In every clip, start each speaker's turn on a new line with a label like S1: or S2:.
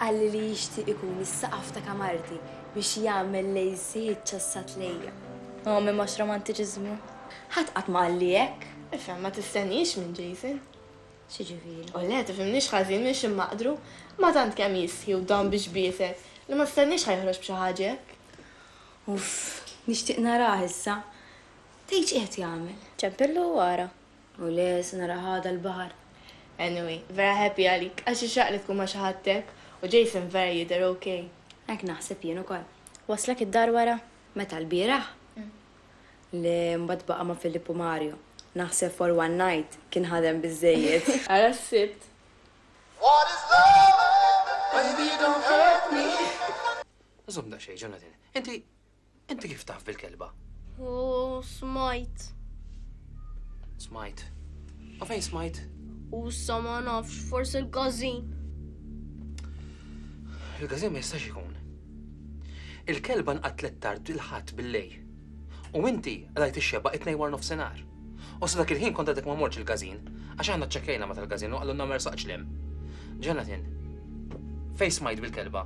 S1: Qalli li jixtieq ikun is-saqaf ta' kamarti biex jagħmel l-AC ċċassat lejja.
S2: Oh, m'hemmx romantiċiżmu.
S1: Ħadd qatt ma qalli hekk.
S3: Ifhem, ma tistenniex minn Jason.
S1: X'jiġifieri?
S3: U le, tifhimniex ħażin mhix immaqdru, ma tant kemm jistħi u dam biex biesek li ma tistenniex ħa joħroġ b'xi ħaġa hekk.
S1: Uff, nixtieq narah issa. Tgħid x'qiegħed jagħmel?
S2: Ċempillu u ara.
S1: U le, se narah għada l-baħar.
S3: Anyway, vera happy għalik, għax ixraq li tkun ma' xi ħadd hekk u Jason vera jidher okay.
S1: Hekk naħseb jien ukoll.
S2: Waslek id-dar wara?
S1: Meta l-bieraħ? Le, mbagħad baqa' ma' Filippo Mario. Naħseb for one night kien ħadem biżejjed.
S3: Ara s-Sibt.
S4: What is love? Baby, don't hurt me.
S5: Żomm daqsxejn, Jonathan. Inti inti kif taf bil-kelba?
S6: U smajt.
S5: Smajt. U fejn smajt?
S6: U sa ma nafx, forsi l-każin.
S5: Il-każin ma jistax ikun. Il-kelba nqatlet tard il-Ħadd bil-lejl. U inti rajt ix-xebgħa it-Tnejn wara nofsinhar. U sa dak il-ħin kont għadek ma mortx il-każin, għax aħna ċċekkejna ma tal-każin u qalulna ma rsaqx 'l hemm. Jonathan, fejn smajt bil-kelba?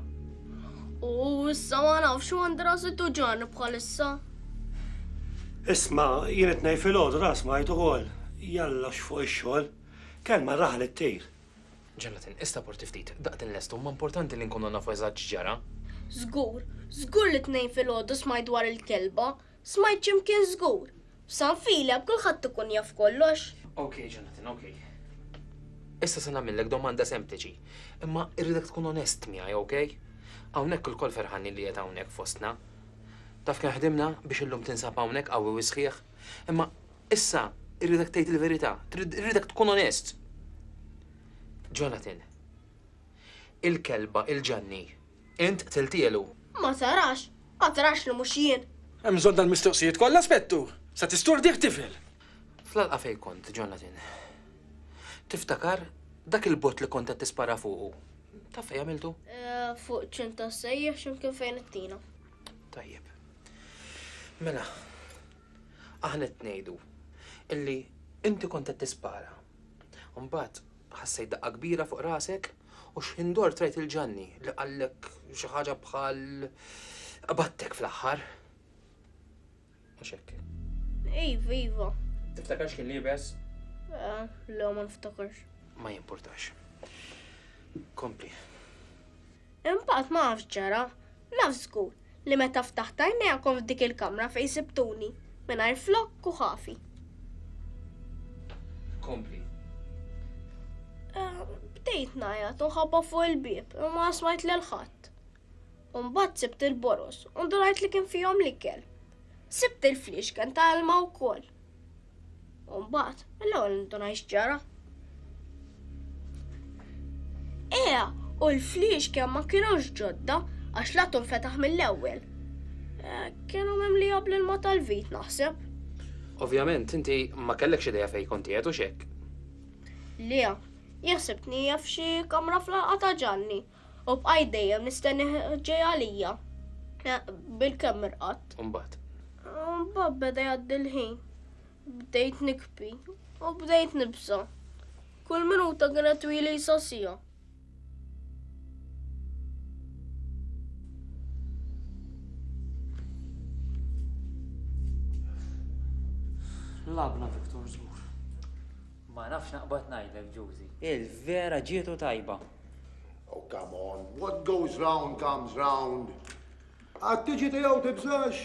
S6: U issa ma nafx u għandi rasi tuġgħani bħalissa.
S7: Isma', jien it-Tnejn filgħodu ra smajt ukoll. Jalla x'fuq ix-xogħol. Kelma raħal ittir.
S5: Jonathan, issa porti ftit, daqt inlestu, imma importanti li nkunu nafu eżatt x'ġara.
S6: Żgur, żgur li t-Tnejn filgħodu smajt dwar il-kelba. Smajt x'imkien żgur. F'San Filep kulħadd ikun jaf kollox.
S5: Ok, Jonathan, ok. Issa se nagħmillek domanda sempliċi, imma irridek tkun onest miegħi, ok? Hawnhekk ilkoll ferħanin li qed hawnhekk fostna. Taf kemm ħdimna biex illum tinsab hawnhekk qawwi u sħiħ, imma issa irridek tgħid il-verità, irridek tkun onest. Jonathan, il-kelba il-Ġanni, int qtiltielu.
S6: Ma tarax, ma tarax li mhux jien.
S8: Hemm bżonn dal-mistoqsijiet kollha, Spettur? Sa tisturdih tifel.
S5: Fl-għalqa fejn kont, Jonathan? Tiftakar dak il-bott li kont qed tispara fuqu? Taf fejn għamiltu?
S6: Fuq ċint tas-sejjeħ x'imkien fejn it-tina.
S5: Tajjeb. Mela, aħna qed ngħidu illi inti kont qed tispara. Mbagħad ħassejt daqqa kbira fuq rasek u x'ħin dort rajt il-Ġanni li qallek xi ħaġa bħal qbadtek fl-aħħar. Mhux hekk.
S6: Iva, iva.
S5: Tiftakar x'kien liebes?
S6: Le, ma niftakarx.
S5: Ma jimpurtax. Kompli.
S6: Imbagħad ma nafx ġara. Naf żgur li meta ftaħt għajnejja kont f'dik il-kamra fejn sibtuni, mingħajr flokk u ħafi.
S5: Kompli.
S6: Bdejt ngħajjat u nħabba fuq il-bieb imma ma smajt lil ħadd. U mbagħad sibt il-boroż u ndunajt li kien fihom l-ikel. Sibt il-fliexken ta' ilma wkoll. U mbagħad mill-ewwel ndunajt x'ġara. Ea, u l-fliexken ma kinux ġodda għax l-atum fetaħ mill-ewwel. Kienu mimlija bl-ilma tal-vit naħseb.
S5: Ovvjament, inti ma kellekx idea fejn kont qiegħed u x'hekk.
S6: Le, jien ħsibtni f'xi kamra fl-għalqa ta' Ġanni u bqajt dejjem nistenni ġej għalija. Bil-kemm irqadt.
S5: U mbagħad?
S6: U mbagħad beda jgħaddi l-ħin. Bdejt nikbi u bdejt nibża'. Kull minuta kienet twila sa siegħa.
S9: Labna Victor żgur.
S10: Ma nafx naqbad ngħidlek, Ġużi. Il-vera ġietu tajba.
S4: Oh, come on. What goes round comes round. Għad tiġi tiegħu tibżax.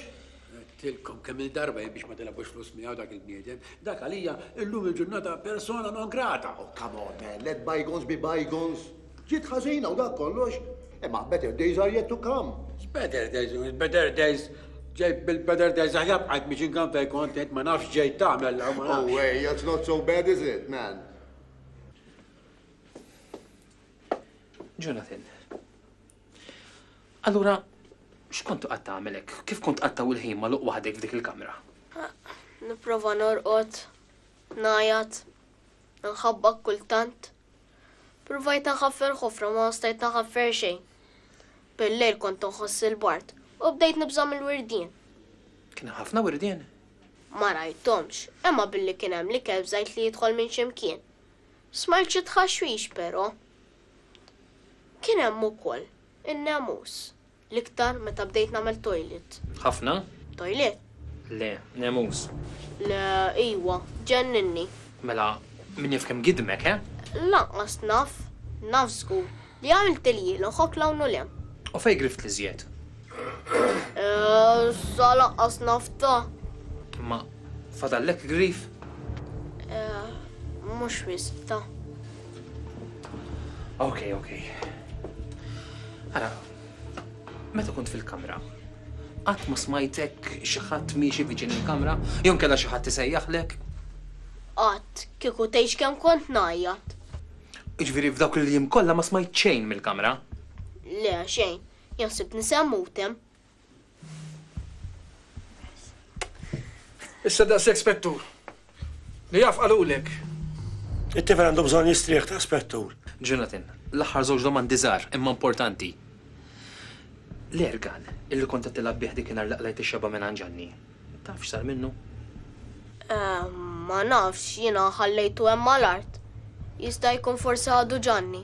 S11: Għedtilkom kemm il-darba jien biex ma tilgħabux flus miegħu dak il-bniedem. Dak għalija illum il-ġurnata persona non grata.
S4: Oh, come on, man. Let bygones be bygones. Ġiet ħażina u dak kollox. Imma better days are yet to come.
S11: Better days, better days. Ġej bil-better days aħjar bqajt mixin kan fejn kont int ma nafx ġejt tagħmel ma nafx.
S4: Oh, hey, that's not so bad, is it, man?
S5: Jonathan, allura x'kont toqgħod tagħmel hekk? Kif kont tqattgħu il-ħin magħluq waħdek f'dik il-kamra?
S6: Nipprova norqod, ngħajjat, nħabbak kultant. Provajt nħaffer ħofra ma stajt nħaffer xejn. Bil-lejl kont nħoss il-bard u bdejt nibża' mill-wirdien.
S5: Kien hemm ħafna wirdien?
S6: Ma rajthomx, imma billi kien hemm l-ikel bżajt li jidħol minn xi mkien. Smajt xi tħaxwix però. Kien hemm ukoll in-nemus, l-iktar meta bdejt nagħmel toilet.
S5: Ħafna?
S6: Toilet?
S5: Le, nemus.
S6: Le, iwa, ġenninni.
S5: Mela, min jaf kemm gidmek, eh?
S6: Lanqas naf, naf żgur li għamilt il-jilu ħok 'l hawn u 'l hemm.
S5: U fejn grift l-iżjed?
S6: Sa lanqas naf ta.
S5: Imma fadallek grif?
S6: Mhux wisq ta.
S5: Ok, ok. Ara, meta kont fil-kamra, qatt ma smajtek xi ħadd miexi viċin il-kamra, jew inkella xi ħadd isejjaħlek?
S6: Qatt, kieku tgħidx kemm kont ngħajjat.
S5: Jiġifieri f'dawk il-jiem kollha ma smajt xejn mill-kamra?
S6: Le, xejn. Jien ħsibtni se mmut hemm.
S8: Issa daqshekk Spettur. Li jaf qalulek.
S7: It-tifel għandu bżonn jistrieħ ta' Spettur.
S5: Jonathan, l-aħħar żewġ domandi żgħar imma importanti. L-airgun illi kont qed tilgħab bih dikinhar li qlajt ix-xebgħa mingħand Ġanni, taf x'sar minnu?
S6: Ma nafx, jiena ħallejtu hemm mal-art. Jista' jkun forsi ħadu Ġanni.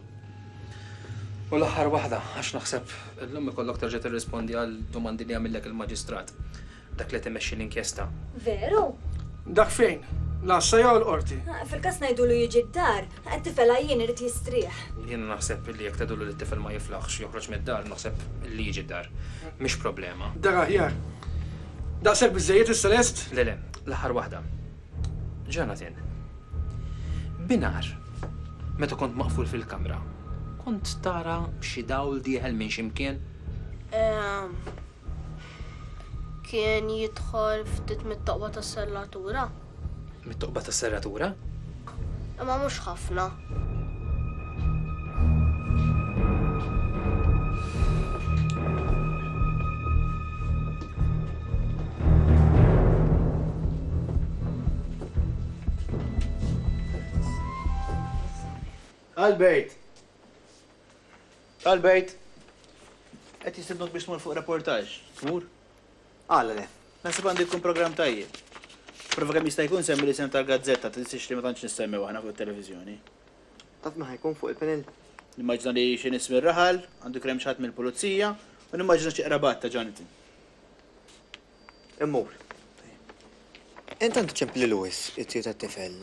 S5: U l-aħħar waħda, għax naħseb illum ikollok terġa' tirrispondi għal domandi li għamillek il-Maġistrat, dak li qed imexxi l-inkjesta.
S9: Veru?
S8: Dak fejn? L-għassa jew l-qorti?
S9: Fil-każ ngħidulu jiġi d-dar, it-tifel għajjien irid jistrieħ.
S5: Jiena naħseb li jekk tgħidulu li t-tifel ma jiflaħx joħroġ mid-dar, naħseb li jiġi d-dar. Mhix problema.
S8: Dak aħjar. Daqshekk biżżejjed issa lest?
S5: Le le, l-aħħar waħda. Jonathan, binhar, meta kont maqful fil-kamra, kont tara xi dawl dieħel minn xi mkien?
S6: Ehm, kien jidħol ftit mit-toqba tas-serratura.
S5: Mit-toqba tas-serratura?
S6: Imma mhux ħafna.
S12: Albert! Albert! Qed jistednuk biex tmur fuq reportaġġ. Tmur? Għala le? Naħseb għandu jkun programm tajjeb. Prova kemm jista' jkun semmi l-isem tal-gazzetta, tinsiex li ma tantx nissemmew aħna fuq it-televiżjoni.
S13: Taf min ħa jkun fuq il-panel?
S12: Nimmaġina li xi nies mir-raħal, għandu jkun hemm xi ħadd mill-pulizija, u nimmaġina xi qrabat ta' Jonathan.
S13: Immur. Intant ċempli Louis, it-tiju tat-tifel,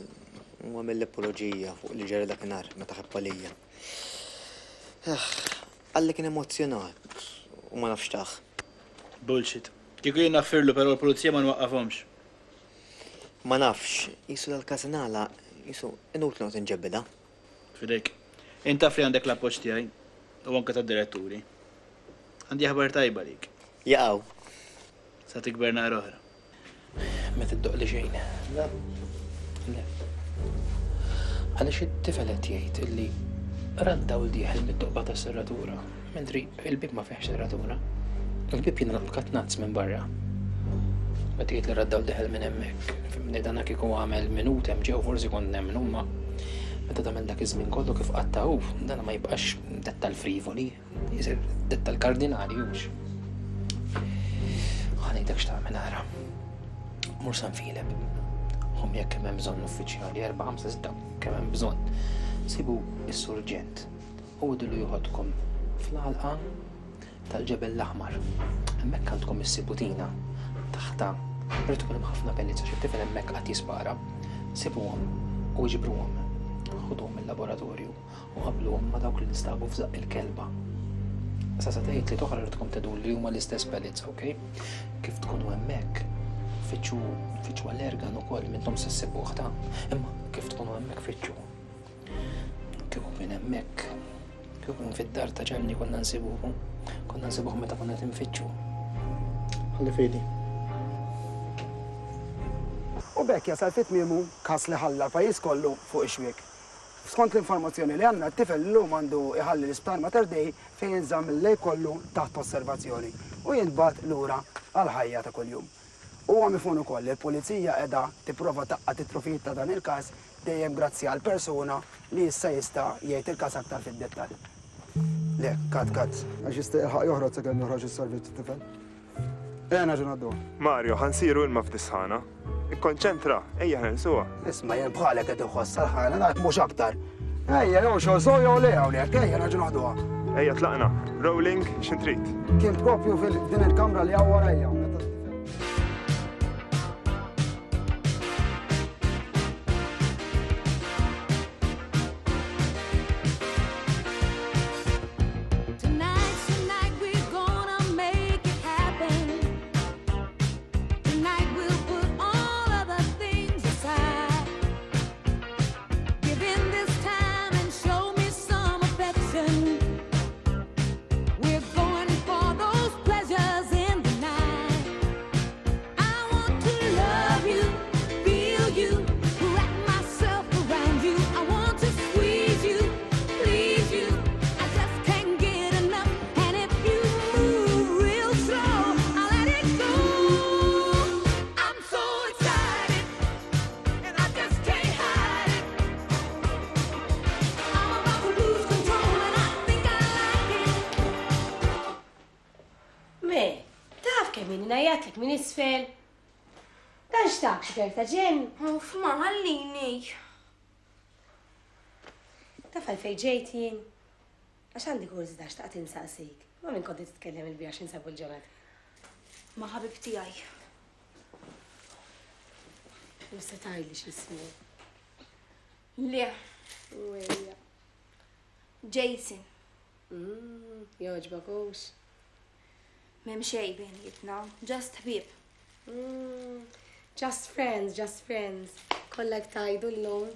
S13: u għamilli apoloġija fuq li ġara dakinhar meta ħebb għalija. Qalli kien emozzjonat u ma nafx tah.
S12: Bullshit. Kieku jien naffirlu però l-pulizija ma nwaqqafhomx.
S13: Ma nafx, qisu dal-każ ingħalaq, qisu inutli noqgħod inġebbidha.
S12: F'idejk. Int taf li għandek l-appoġġ tiegħi u anke tad-diretturi. Għandi aħbar tajba għalik.
S13: Jaqaw.
S12: Sa tikber naqra oħra.
S5: Ma tiddoqli xejn.
S12: Le.
S5: Le. Għaliex it-tifel qed jgħid illi ra d-dawl dieħel mit-toqba tas-serratura, mentri il-bieb ma fihx serratura. Il-bieb jingħalaq b'katnazz minn barra. Meta jgħid li ra d-dawl dieħel minn hemmhekk, fimni dana kieku għamel minut hemm ġew forsi kont nemmnu imma meta tagħmel dak iż-żmien kollu kif qatta' hu, dana ma jibqax dettal frivoli. Jisir dettal kardinali hux. Ħa ngħidlek x'tagħmel ara. Mur San Filep. Hom jekk kemm hemm bżonn uffiċjali, 4, 5, 6, kemm hemm bżonn. Sibu is-surġent u għidulu joħodkom fl-għalqa tal-ġebel l-aħmar. Hemmhekk għandkom issibu tina taħta irid ikun hemm ħafna pellets għax it-tifel hemmhekk qatt jispara. Sibuhom u iġbruhom. Ħuduhom il-laboratorju. u qabbluhom ma' dawk li nstabu f'żaqq il-kelba. Sa se tgħid li toħra rridkom tgħidu li huma l-istess pellets, ok? Kif tkunu hemmhekk, fittxu fittxu għall-ergan ukoll minnhom se ssibuh ta' imma kif tkunu hemmhekk fittxu. Kieku kien hemmhekk, kieku kien fid-dar ta' Ġanni konna nsibuhu, konna nsibuh meta konna qed infittxu.
S12: Ħalli fidi.
S14: U b'hekk jasal fi tmiemu każ li ħalla l-pajjiż kollu fuq ix-xwiek. Skont l-informazzjoni li għandna, t-tifel illum għandu jħalli l-Isptar Mater Dei fejn jinżamm il-lejl kollu taħt osservazzjoni u jintbagħat lura għall-ħajja ta' kuljum. Huwa mifhum ukoll li l-Pulizija qiegħda tipprova tgħaqqad it-trufijiet ta' dan il-każ dejjem grazzi għal persuna li issa jista' jgħid il-każ aktar fid-dettall. Le, cut, cut. Għax jista' jilħaq joħroġ sakemm joħroġ is-servizz it-tifel. Ejja nerġgħu ngħadduha.
S15: Mario, ħa nsiru ilma f'dis-sħana. Ikkonċentra, ejja ħa nilsuha.
S14: Isma' jien bħalek qed inħossha l-ħana ngħid mhux aktar. Ejja jew xogħol sew jew le hawnhekk, ejja nerġgħu noħduha.
S15: Ejja tlaqna. Rolling, x'int trid?
S14: Kien propju fil-din il-kamra li hawn warajja.
S16: Tonight's the night we're gonna make it happen. Tonight we'll put all other things aside. Give in this time and show me some affection. We're going for those pleasures in the night. I want to love you, feel you, wrap myself around you. I want to squeeze you, please you. I just can't get enough, and if you move real slow, I'll let it go. I'm so excited, and I just can't hide it. I'm about to lose control, and I think I like it.
S17: Me, taf kemm inni ngħajjatlek minn isfel. Dan x'tak xi ta' ġenn?
S1: Uff, ma ħallini.
S17: Taf għalfejn ġejt jien? Għax għandi kurżità xtaqt insaqsik. Ma' min kont titkellem il-bieraħ x'insabu l-ġurnata?
S1: Ma' ħabib tiegħi.
S17: U se tgħidli x'ismu.
S1: Le.
S17: Wejja.
S1: Jason.
S17: Jogħġbok hux?
S1: M'hemm xejn bejnietna, just ħbieb.
S17: Just friends, just friends. Kollha hekk tgħidu llum.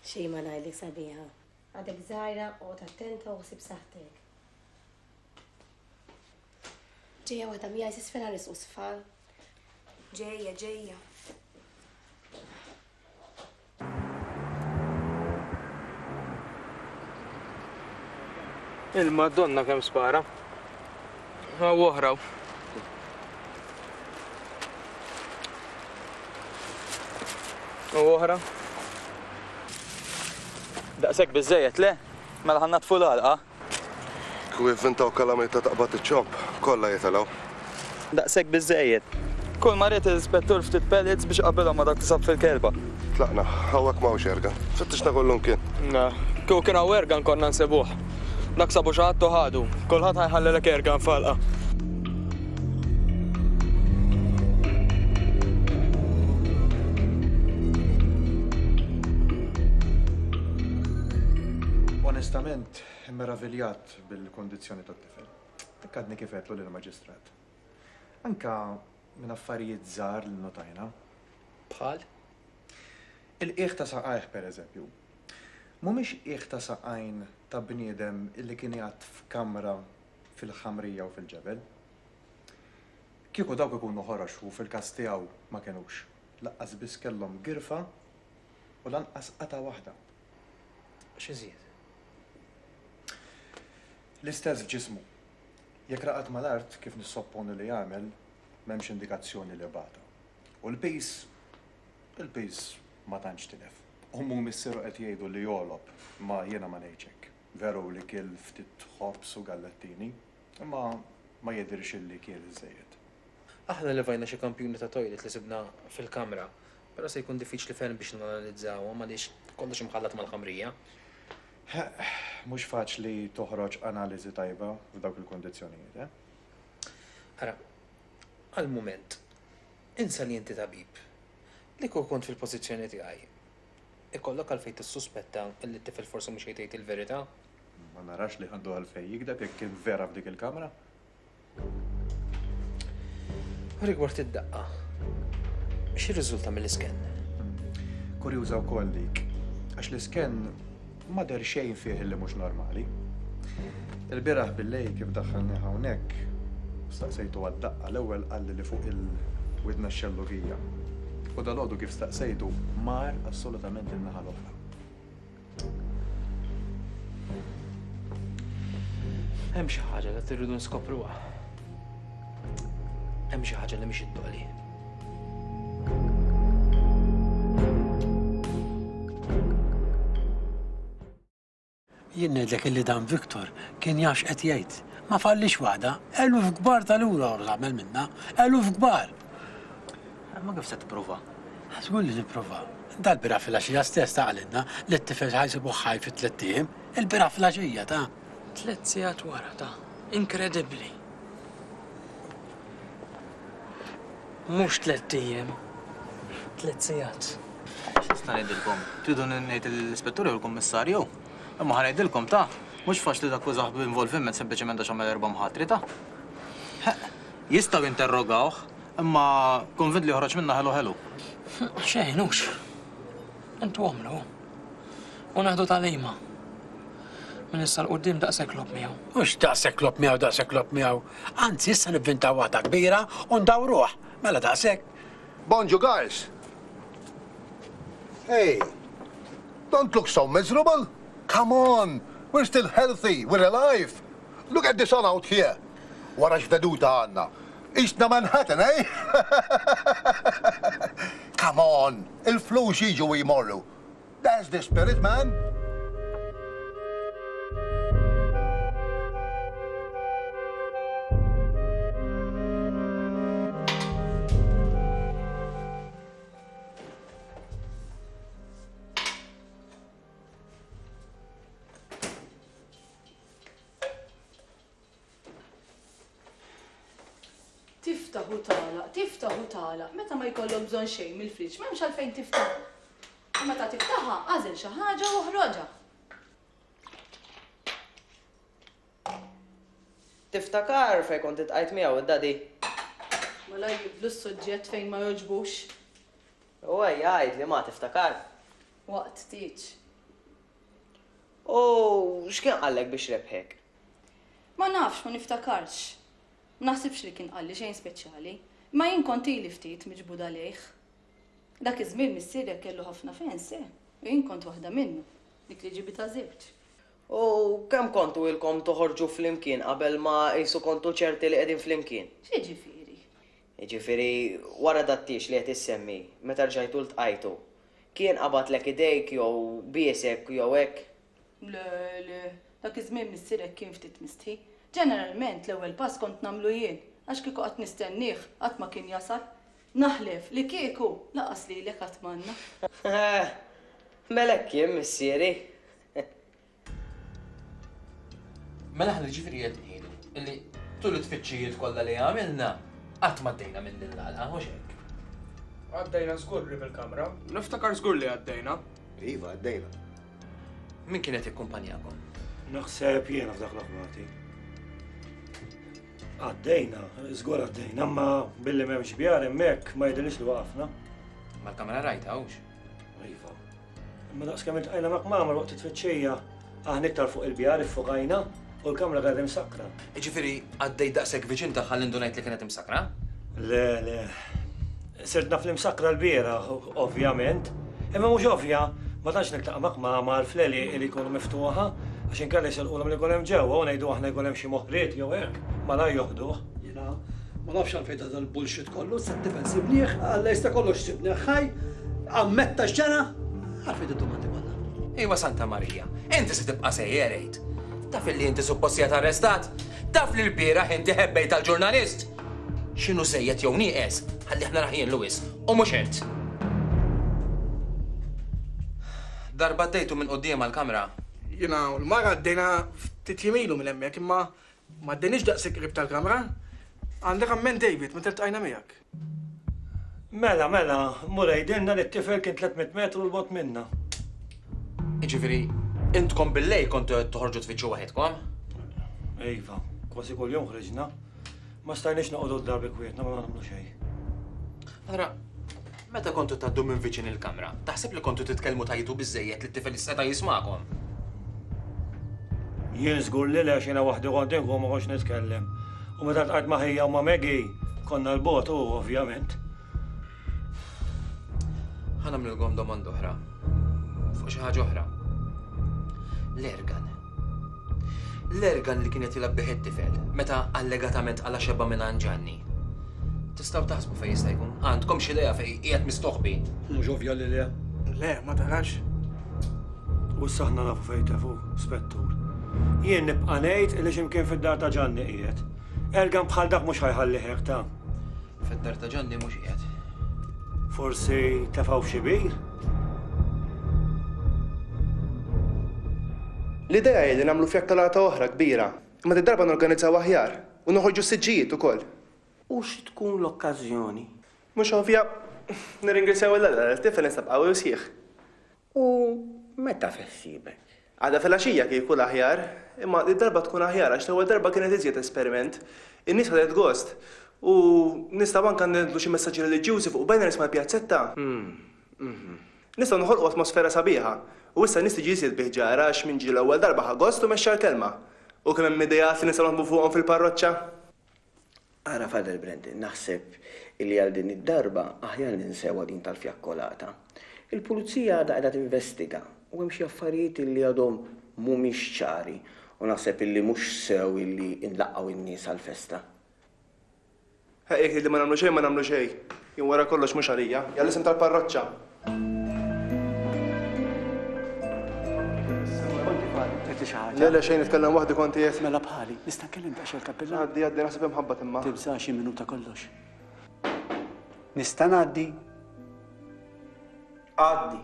S17: Xejn ma ngħidlek sabiħa. Għadek żgħira, oqgħod attenta u ħsib saħħtek. Ġejja waħda miegħi s'isfel ħa nisqu sfal.
S1: Ġejja, ġejja.
S5: Il-Madonna kemm spara. Hawn oħra. U oħra.
S12: Daqshekk biżżejjed, le? Mela ħa nnaddfu l-għalqa.
S18: Kieku jivvintaw kalamita taqbad iċ-ċomb, kollha jitilgħu.
S12: Daqshekk biżżejjed. Kull ma ried l-ispettur ftit pellets biex iqabbilhom ma' dak li sab fil-kelba.
S18: Tlaqna, hawnhekk m'hawnx ergan. Fittixna kullumkien.
S8: Le, kieku kien hawn ergan konna nsibuh. Dak sabu xi ħadd u ħadu. Kulħadd ħa jħallilek ergan f'għalqa.
S19: Onestament, immeraviljat bil-kundizzjoni tat-tifel. Hekk għadni kif għedtlu lill-Maġistrat. Anke minn affarijiet żgħar li nnotajna.
S5: Bħal?
S19: Il-qiegħ ta' saqajh, pereżempju. Mhumiex qiegħ ta' saqajn ta' bniedem li kien jgħadd f'kamra fil-ħamrija u fil-ġebel. Kieku dawk ikunu ħorox u fil-każ tiegħu ma kinux. Laqqas biss kellhom girfa u lanqas qatgħa waħda.
S5: X'iżjed?
S19: L-istess f'ġismu. Jekk raqad mal-art, kif nissopponi li għamel, m'hemmx indikazzjoni li bata. U l-piż? Il-piż ma tantx tilef. Ommu u missieru qed jgħidu li jogħlob, imma jiena ma ngħidx hekk. Veru li kiel ftit ħobż u gallettini, imma ma jidhirx illi kiel iżżejjed.
S5: Aħna levajna xi kampjuni ta' toilet li sibna fil-kamra, però se jkun diffiċli ferm biex nanalizzawhom għaliex kollox imħallat mal-ħamrija.
S19: Ħeqq, mhux faċli toħroġ analiżi tajba f'dawk il-kundizzjonijiet, eh?
S5: Ara, għall-mument, insa li inti tabib. Li kieku kont fil-pożizzjoni tiegħi, ikollok għalfejn tissuspetta li t-tifel forsi mhux qed jgħid il-verità?
S19: Ma narax li għandu għalfejn jigdeb jekk kien vera f'dik il-kamra.
S5: U rigward id-daqqa, x'irriżulta mill-isken?
S19: Kurjuża wkoll dik, għax l-isken ma deher xejn fih li mhux normali. Il-bieraħ billejl kif daħħalnih hawnhekk, staqsejtu għad-daqqa l-ewwel qalli li fuq il-widna x-xellugija. U dalgħodu kif staqsejtu mar assolutament in-naħa l-oħra.
S5: Hemm xi ħaġa li rridu nskopruha. Hemm xi ħaġa li mhix iddoli.
S11: Jien ngħidlek illi dan Victor kien jaf x'qed jgħid. Ma fallix waħda, eluf kbar tal-ewros għamel minnha, eluf kbar.
S10: Imma kif se tipprova?
S11: Żgur li nipprova. Dal-bieraħ filgħaxija stess ta qalilna li t-tifel ħa jsibuh ħaj fi tlett ijiem. Il-bieraħ filgħaxija ta.
S20: Tlett sigħat wara ta. Inkredibbli. Mhux tlett ijiem. Tlett sigħat.
S12: X'nista' ngħidilkom? Tridu ngħid lill-Ispettur jew il-Kummissarju? Imma ħa ngħidilkom ta, mhux faċli takkużah b'involviment sempliċement għax għamel erba' mħatri ta. Ħeqq, jistgħu jinterrogawh, imma konvint li joħroġ minnha ħelu ħelu.
S20: Xejn, hux. Intu għamlu. U neħdu tagħlima. Minn issa 'l quddiem daqshekk logħob miegħu.
S11: Mhux daqshekk logħob miegħu, daqshekk logħob miegħu. Anzi, issa nivvintaw waħda kbira u ndawruh. Mela daqshekk.
S4: Bonġu guys! Hey! Don't look so miserable! Come on! We're still healthy, we're alive! Look at the sun out here! Wara x'veduta għandna! Qisna Manhattan, eh? Come on! Il-flus jiġu u jmorru. That's the spirit, man!
S21: Tiftaħ u tagħlaq, tiftaħ u tagħlaq, meta ma jkollok bżonn xejn mill-friġġ m'hemmx għalfejn tiftaħha. U meta tiftaħha, agħżel xi ħaġa u oħroġha.
S22: Tiftakar fejn kont iltqajt miegħu id-daddy?
S21: Malajr jibdlu s-suġġett fejn ma jogħġbux.
S22: U ejja għidli ma tiftakar?
S21: Waqt tieġ.
S22: U x'kien qallek biex rebħek?
S21: Ma nafx, ma niftakarx. Ma naħsibx li kien qalli xejn speċjali. Imma jien kont ili ftit miġbuda lejh. Dak iż-żmien missierek kellu ħafna fans, eh, u jien kont waħda minnhom, dik li ġibitha żewġ.
S22: U kemm kontu ilkom toħorġu flimkien qabel ma qisu kontu ċerti li qegħdin flimkien?
S21: X'jiġifieri?
S22: Jiġifieri wara dat-tieġ li qed issemmi, meta rġajtu ltqajtu, kien qabadlek idejk jew biesek jew hekk?
S21: Le, le, dak iż-żmien missierek kien ftit mistħi. Ġeneralment l-ewwel pass kont nagħmlu jien, għax kieku qgħadt nistennieh qatt ma kien jasal. Naħlef li kieku lanqas lilek qatt m'għandna.
S22: Eh, mela hekk kien missieri.
S5: Mela aħna ġifieri qed ngħidu illi tul it-tfittxijiet kollha li għamilna qatt m'għaddejna minn din l-għalqa, mhux hekk?
S8: Għaddejna żgur qrib il-kamra. Niftakar żgur li għaddejna.
S4: Iva, għaddejna.
S5: Min kien qed jikkumpanjakom?
S7: Naħseb jiena f'dak l-aħmati. Għaddejna, żgur għaddejna, imma billi m'hemmx bjar hemmhekk ma jidhirlix li waqafna.
S5: Mal-kamra rajtha hux?
S7: Iva. Imma daqs kemm iltqajna ma' kmamar waqt it-tfittxija, aħna iktar fuq il-bjar iffokajna u l-kamra kienet imsakkra.
S5: Jiġifieri għaddejt daqshekk viċin tagħha li ndunajt li kienet imsakkra?
S7: Le, le. Sirt naf li msakkra lbieraħ, ovvjament. Imma mhux ovvja, ma tantx niltaqa' ma' kmamar fl-għelieqi li jkunu miftuħa, għax inkella jisirqulhom li jkun hemm ġewwa u ngħidu aħna jkun hemm xi moħriet jew hekk, malajr joħduh.
S23: Jiena ma nafx għalfejn ta' dal-bullshit kollu, issa t-tifel sibnieh, Alla jista' kollox sibnieh ħaj, ammetta x'ġara, għalfejn d-domandi kollha.
S5: Ejwa Santa Marija, inti se tibqa' sejjer għid. Taf illi inti suppost qiegħed arrestat? Taf li lbieraħ inti ħebbejt għall-ġurnalist? X'inhu żejjed jew nieqes, ħallih narah jien Louis, u mhux int. Darba għaddejtu minn quddiemha l-kamra?
S8: Jiena u l-mara għaddejna ftit jiem ilu minn hemmhekk imma Ma għaddejniex daqshekk qrib tal-kamra. Għandek amment David meta ltqajna miegħek.
S7: Mela, mela, mur għidilna li t-tifel kien 300 metru 'l bogħod minna.
S5: Jiġifieri, intkom bil-lejl kontu qed toħorġu tfittxu waħedkom?
S7: Iva, kważi kuljum ħriġna. Ma stajniex noqogħdu d-dar bi kwietna ma nagħmlu xejn.
S5: Allura, meta kontu tgħaddu minn viċin il-kamra, taħseb li kontu titkellmu tgħajtu biżżejjed li t-tifel seta' jismagħkom?
S7: Jien żgur li le għax jiena waħdi kont inqum ma kontx nitkellem. U meta ltqajt ma' ħija u ma' Maggie, konna 'l bogħod u ovvjament.
S5: Ħa nagħmlilkom domanda oħra. Fuq xi ħaġa oħra. L-ergan. L-ergan li kien qed jilgħab bih it-tifel meta allegatament qala' xebgħa mingħand Ġanni. Tistgħu taħsbu fejn jista' jkun? Għandkom xi idea fejn qiegħed mistoħbi?
S23: Mhux ovvja li le.
S8: Le, ma tarax.
S7: U issa aħna nafu fejn tefu, Spettur. Jien nibqa' ngħid li x'imkien fid-dar ta' Ġanni qiegħed. Ergan bħal dak mhux ħa jħallih hekk ta'.
S5: Fid-dar ta' Ġanni mhux qiegħed.
S7: Forsi tefgħu f'xi bir?
S15: L-idea hi li nagħmlu fjakkalata oħra kbira, imma did-darba norganizzaw aħjar u noħorġu s-siġġijiet ukoll.
S2: U xi tkun l-okkażjoni?
S15: Mhux ovvja, nirringrazzjaw 'il Alla li t-tifel instab qawwi u sħiħ.
S2: U meta fi ħsiebek?
S15: Għada filgħaxija kieku l-aħjar, imma did-darba tkun aħjar għax l-ewwel darba kienet iżjed esperiment. In-nies ħadet gost u nistgħu anke nidlu xi messaġġi reliġjużi fuq banners mal-pjazzetta. Nistgħu noħolqu atmosfera sabiħa. U issa n-nies tiġi iżjed bi ħġarha għax min ġie l-ewwel darba ħa gost u mexxa l-kelma. U kemm hemm ideat li nistgħu naħdmu fuqhom fil-parroċċa!
S2: Ara Father Brendan, naħseb illi għal din id-darba aħjar ninsewha din tal-fjakkolata. Il-pulizija għadha qiegħda tinvestiga u hemm xi affarijiet illi għadhom mhumiex ċari u naħseb illi mhux sew illi nlaqqgħu n-nies għall-festa.
S15: Ħeqq jekk tgħidli ma nagħmlu xejn ma nagħmlu xejn. Jien wara kollox mhux għalija, hija l-isem tal-parroċċa. Le le xejn nitkellem waħdi kont qiegħed.
S11: Mela bħali, nista' nkellem daqsxejn il-kappillan?
S15: Għaddi għaddi naħseb hemm ħabbat imma.
S11: Tibżax xi minuta kollox. Nista' ngħaddi?
S2: Għaddi.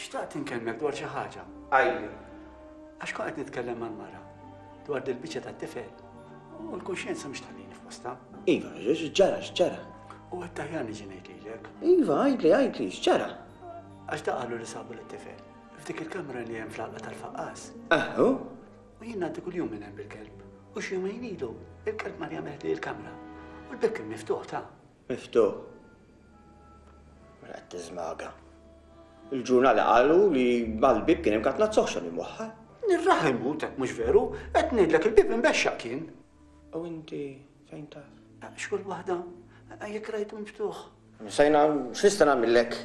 S11: Xtaqt inkellmek dwar xi ħaġa.
S2: Għidli.
S11: Għax kont qed nitkellem mal-mara dwar dil-biċċa tat-tifel u l-kuxjenza mhux tħallini f'postha.
S2: Iva, x'ġara, x'ġara?
S11: U għedt aħjar niġi ngħid lilek.
S2: Iva, għidli, għidli, x'ġara?
S11: Għax da qalu li sabu lit-tifel f'dik il-kamra li hemm fl-għalqa tal-faqqas.
S2: Eħ, u?
S11: U jien ngħaddi kuljum minn hemm bil-kelb. U xi jumejn ilu, il-kelb mar jagħmel ħdej il-kamra. U l-bieb kien miftuħ ta'.
S2: Miftuħ. Mela qed tiżmaga. Il-ġurnali qalu li mal-bieb kien hemm katnazz oħxon imwaħħal.
S11: Nirraħ imut hekk mhux veru, qed ngħidlek il-bieb imbexxaq kien.
S2: U inti fejn taf?
S11: Xkull waħda, jekk rajtu miftuħ.
S2: Sajna, x'nista' nagħmillek?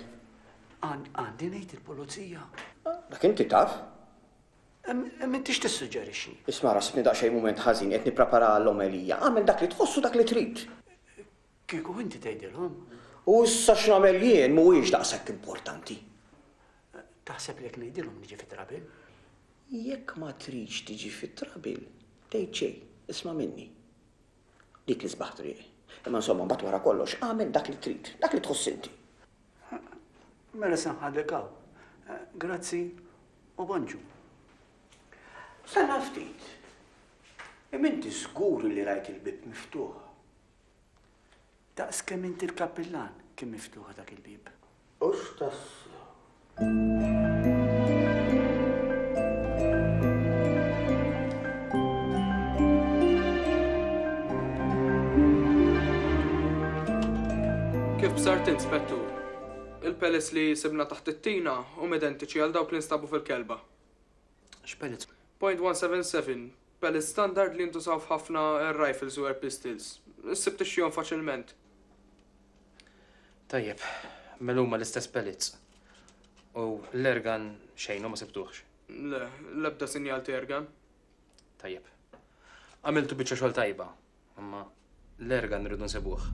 S11: Għandi ngħid il-pulizija.
S2: Dak inti taf.
S11: M'intix tissuġġerixxi.
S2: Isma' rasibni daqsxejn mument ħażin qed nipprepara għall-omelija. Agħmel dak li tħoss u dak li trid.
S11: Kieku inti tgħidilhom.
S2: U issa x'nagħmel jien mhuwiex daqshekk importanti.
S11: Taħseb li jekk ngħidilhom niġi fi trouble?
S2: Jekk ma tridx tiġi fi trouble, tgħid xejn, isma' minni. Dik l-isbaħ triq. Imma insomma mbagħad wara kollox agħmel dak li trid, dak li tħoss inti.
S11: Mela se nħallik hawn. Grazzi u bonġu.
S2: Stenna ftit. Imma inti żgur li rajt il-bieb miftuħ?
S11: Daqs kemm inti l-kappillan kien miftuħ dak il-bieb.
S2: Hux tassew.
S5: Kif bsart int, Spettur? Il-pellets li sibna taħt it-tina huma identiċi għal dawk li nstabu fil-kelba.
S7: X'pellets?
S5: .177, pellets standard li jintużaw f'ħafna air rifles u air pistols. Issib tixtrihom faċilment. Tajjeb, mela huma l-istess pellets. U l-airgun xejn u ma sibtuhx. Le, l-ebda sinjal ta' airgun. Tajjeb. Għamiltu biċċa xogħol tajba, imma l-airgun rridu nsibuh.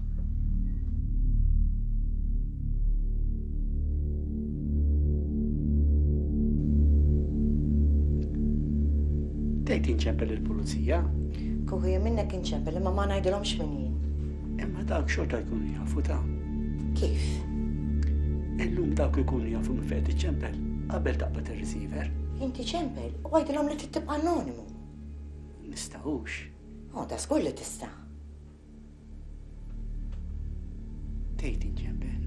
S11: Tgħid inċempel lill-pulizija?
S17: Kieku jien minnek inċempel imma ma ngħidilhomx min jien.
S11: Imma dawk xorta jkunu jafu ta'.
S17: Kif?
S11: Illum dawk ikunu jafu minn fejn tiċċempel qabel taqbad ir-receiver.
S17: Inti ċempel u għidilhom li trid tibqa' anonimu.
S11: Nistgħux.
S17: Oh, da żgur li tista'.
S11: Tgħid inċempel.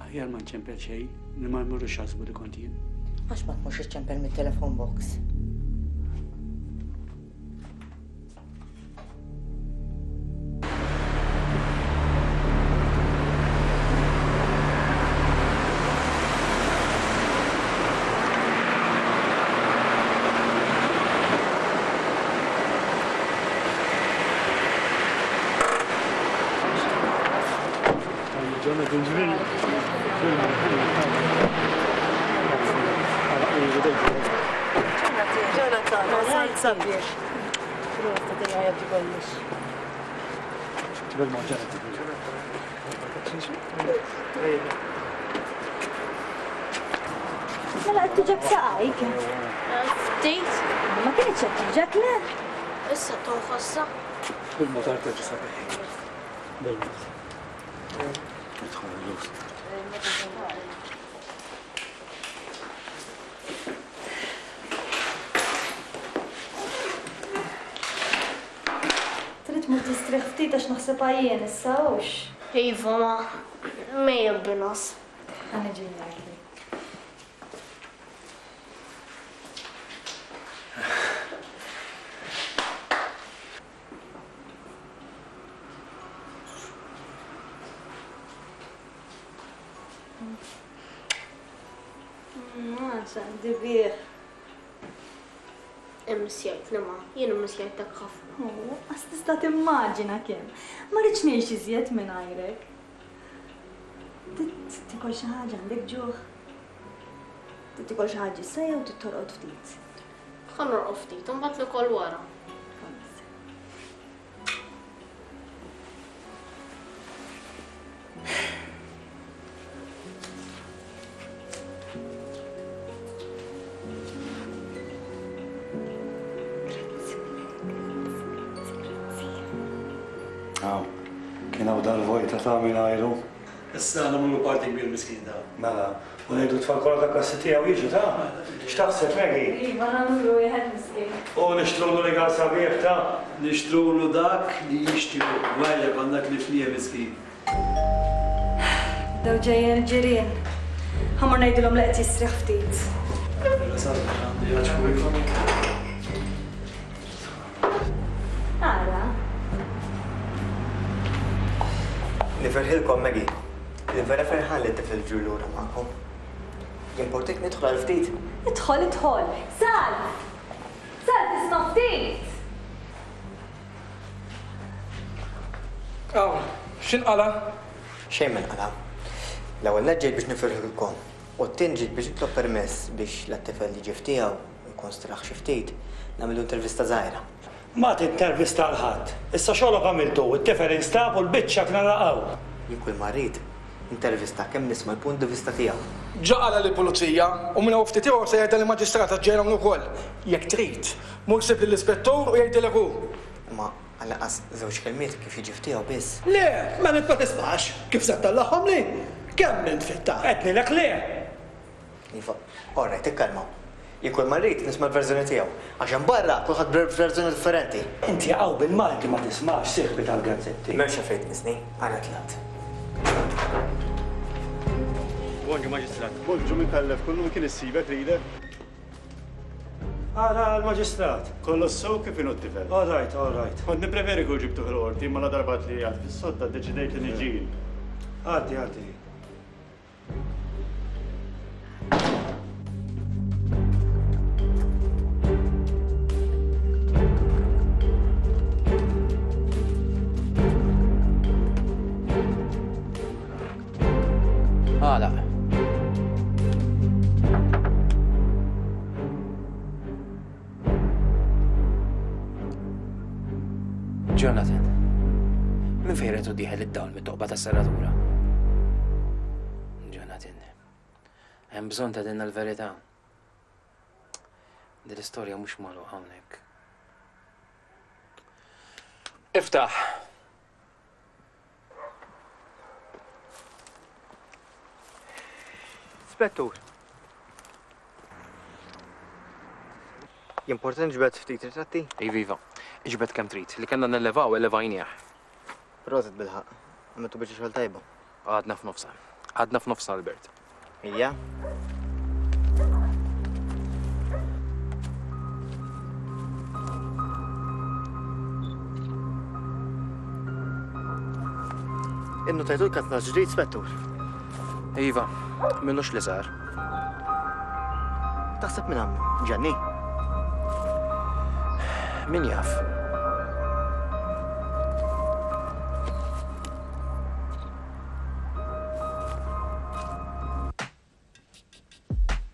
S11: Aħjar ma nċempel xejn li ma jmorrux jaħsbu li kont jien.
S17: Għax ma tmurx iċċempel mit-telefon box.
S3: Mela qed tuġgħek saqajk.
S6: Ftit.
S3: Ma kinitx qed tuġgħek le?
S6: Issa tonħossha.
S7: Bil-mod arteġi sabiħ. Bil-mod. Idħol il-lus.
S3: Nistrieħ ftit għax naħseb għajjien issa hux.
S6: Iva ma, mejjet bin-ngħas.
S3: Ħa niġi ngħidlek. Ma, x'għandi bih.
S6: Immissjajtni ma, jien immissjajtek ħafna.
S3: Oh, qas tista' timmaġina kemm. Ma rridx ngħix iżjed mingħajrek. Trid tikol xi ħaġa għandek ġuħ? Trid tikol xi ħaġa issa jew trid torqod ftit?
S6: Ħa norqod ftit u mbagħad nikol wara.
S7: Aw, kien hawn dal-vojta ta' mingħajru.
S23: Issa nagħmlu party kbir miskin ta.
S7: Mela, u ngħidu t-tfal kollha ta' klassi tiegħu jiġu ta'? X'taħseb Maggie?
S3: Iva nagħmlu wieħed miskin.
S7: U nixtrulu rigal sabiħ ta'?
S23: Nixtrulu dak li jixtiequ, gwajja konna tlifnieh miskin.
S3: Bdew ġejjin il-ġirien. Ħa mmur ngħidilhom li qed jistrieħ ftit.
S23: Mela salva għandi għax fuq.
S3: Ara.
S9: Nifirħilkom, Maggie. Jien vera ferħan li t-tifel ġie lura magħkom. Jimportik nidħol għal ftit?
S3: Idħol, idħol. Salv! Salv, tisma' ftit!
S8: Hawn, x'inqala'?
S9: Xejn ma nqala'. L-ewwel nett ġejt biex nifirħilkom u t-tieni ġejt biex nitlob permess biex la t-tifel jiġi f'tiegħu u jkun straħ xi ftit, nagħmillu intervista żgħira.
S7: Ma tintervista 'l ħadd. Issa xogħlok għamiltu, it-tifel instab u l-biċċa kna laqgħu.
S9: Jien kull ma rrid, intervista kemm nisma' l-punt di vista tiegħu.
S8: Ġa qalha lill-pulizija u minn hawn ftit ieħor se jgħidha lill-maġistrat għax ġej hawn ukoll. Jekk trid, mur sib lill-ispettur u jgħidilek hu.
S9: Imma għall-anqas żewġ kelmiet kif jiġi f'tiegħu biss.
S23: Le, mela int ma tismax! Kif se ttellagħhomli? Kemm int fit-tard?
S7: Għednilek le!
S9: Iva, all right, ikkalmaw. Jien kull ma rrid nisma' l-verżjoni tiegħu, għax hemm barra kulħadd b'verżjoni differenti.
S7: Inti hawn bil-Malti ma tismax, sieħbi tal-gazzetti.
S9: M'hemmx għalfejn tmissni, għana tlaqt.
S13: Bonġu Maġistrat. Bonġu Micallef, kull min kien issibek lilek.
S7: Ara l-Maġistrat.
S13: Kollox sew kif inhu t-tifel?
S7: All right, all right.
S13: Kont nippreferi kieku ġibtuh il-qorti imma ladarba għedt li qiegħed fis-sodda ddeċidejt li niġi jien.
S7: Għaddi, għaddi.
S5: Għalaq. Jonathan, minn fejn retu dieħel id-dawl mit-toqba tas-serratura? Jonathan, hemm bżonn ta' dinna l-verità. Din l-istorja mhux magħluqa hawnhekk. Iftaħ!
S9: Spettur. Jimporta nġbed ftit ritratti?
S5: Iva, iva. Iġbed kemm trid. Li kellna nellevaw, ellevajnieh.
S9: Prosit bilħaqq. Għamiltu biċċa xogħol tajba.
S5: Għadna f'nofsha. Għadna f'nofsha, Albert.
S9: Ija. Innotajtu l-katna ġdid, Spettur?
S5: Iva, minnux li sar.
S9: Taħseb minn għamlu? Ġanni?
S5: Min jaf?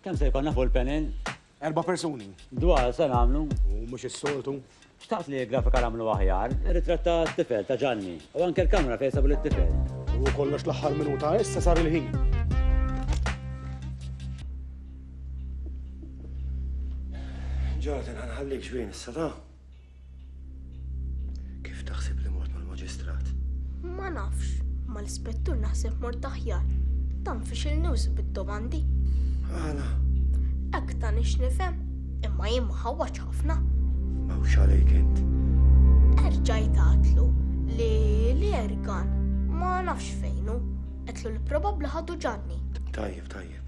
S10: Kemm se jkollna fuq il-panel?
S14: Erba' persuni.
S10: Dwar se nagħmlu.
S14: U mhux is-soltu.
S10: Xtaqt li l-grafika nagħmlu aħjar, ir-ritratt ta' tifel ta' Ġanni u anke l-kamra fejn sabu lit-tifel.
S14: U kollox l-aħħar minuta issa sar il-ħin.
S7: Jonathan, ħanħallik ġwien issa ta'. Kif taħseb li mort mal-maġistrat?
S6: Ma nafx, mal-ispettur naħseb mort aħjar. Dan fixilni wisq bid-domandi.
S7: Għala?
S6: Hekk tani x'nifhem, imma jien ma ħawwadx ħafna.
S7: M'hawnx għalejk int.
S6: Erġajt għadtlu. L-airgun ma nafx fejn hu. Għedtlu li probabbli ħadu Ġanni.
S7: Tajjeb, tajjeb.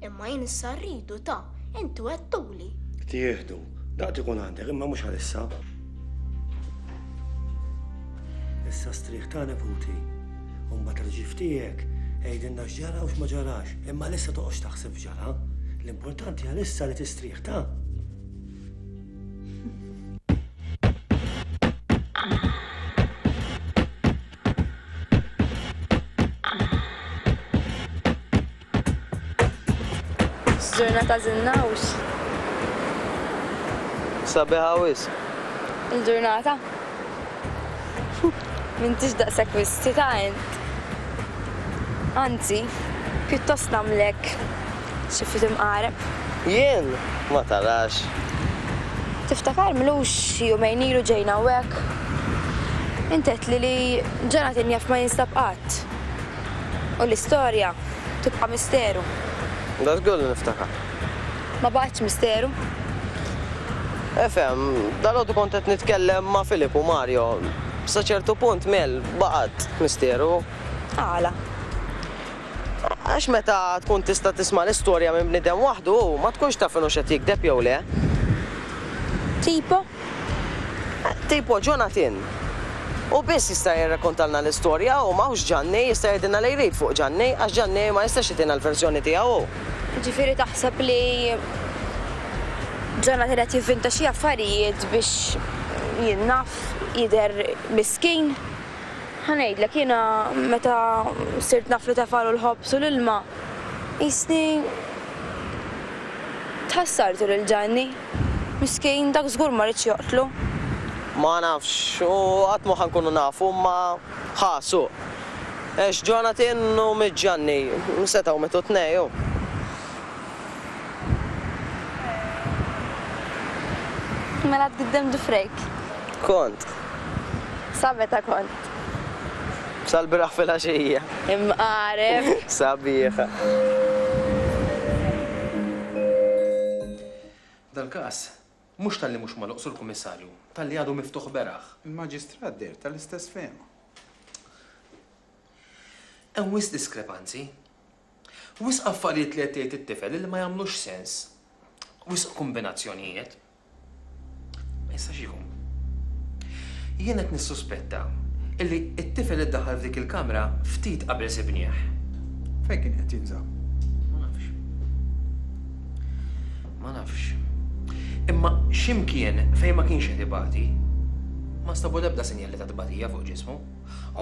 S6: Imma jien issa rridu ta, inti wegħdtuli.
S7: Tieħdu, daqt ikun għandek, imma mhux għalissa. Issa strieħ ta' neputi. U mbagħad l-ġif tiegħek għidilna x'ġara u x'ma ġarax. Imma għalissa toqgħodx taħseb f'ġara. L-importanti għalissa li tistrieħ ta'.
S1: Ġurnata żinnawx.
S22: Sabiħa wisq.
S1: Il-ġurnata? M'intix daqshekk wisti ta' int. Anzi, pjuttost nagħmlek xi ftit imqareb.
S22: Jien? Ma tarax.
S1: Tiftakar m'ilux xi jumejn ilu ġejna hawnhekk? Int għedtli li Jonathan jaf ma jinstab qatt. U l-istorja tibqa' misteru.
S22: Da żgur li niftakar.
S1: Ma baqgħetx misteru.
S22: Efhem, dalgħodu kont qed nitkellem ma' Philip u Mario. Sa ċertu punt, Mel, baqgħet misteru.
S1: Għala?
S22: Għax meta tkun tista' tisma' l-istorja minn bniedem waħdu, ma tkunx taf inhux qed jigdeb jew le.
S1: Tipo?
S22: Tipo Jonathan. Hu biss jista' jirrakkontalna l-istorja u m'hawnx Ġanni, jista' jgħidilna li jrid fuq Ġanni, għax Ġanni ma jistax jagħtina l-verżjoni tiegħu hu.
S1: Jiġifieri taħseb li Jonathan qed jivvinta xi affarijiet biex, jien naf, jidher miskin? Ħa ngħidlek, jiena meta sirt naf li tefgħalu l-ħobż u l-ilma, qisni tħassartu lil Ġanni. Miskin, dak żgur ma riedx joqtlu.
S22: Ma nafx, u qatt mhu ħa nkunu nafu, imma ħa, suq. Għex Jonathan u miet Ġanni, setgħu mietu t-tnejn, hu.
S1: Mela tgiddem dufrejk.
S22: Kont.
S1: Sa meta kont?
S22: Sal-bieraħ filgħaxija.
S1: Imqareb.
S22: Sabiħa.
S5: Dal-każ mhux talli mhux magħluq, Sur Kummissarju, talli għadu miftuħ beraħ.
S16: Il-Maġistrat deher tal-istess fehma.
S5: Hemm wisq diskrepanzi. Wisq affarijiet li qed jgħid it-tifel li ma jagħmlux sens. Wisq kombinazzjonijiet. Ma jistax ikun. Jien qed nissuspetta illi t-tifel iddaħħal f'dik il-kamra ftit qabel sibnieh.
S16: Fejn kien qed jinsab?
S5: Ma nafx. Ma nafx. Imma x'imkien fejn ma kienx qed ibati. Ma nstabu l-ebda sinjali ta' tbatija fuq ġismu.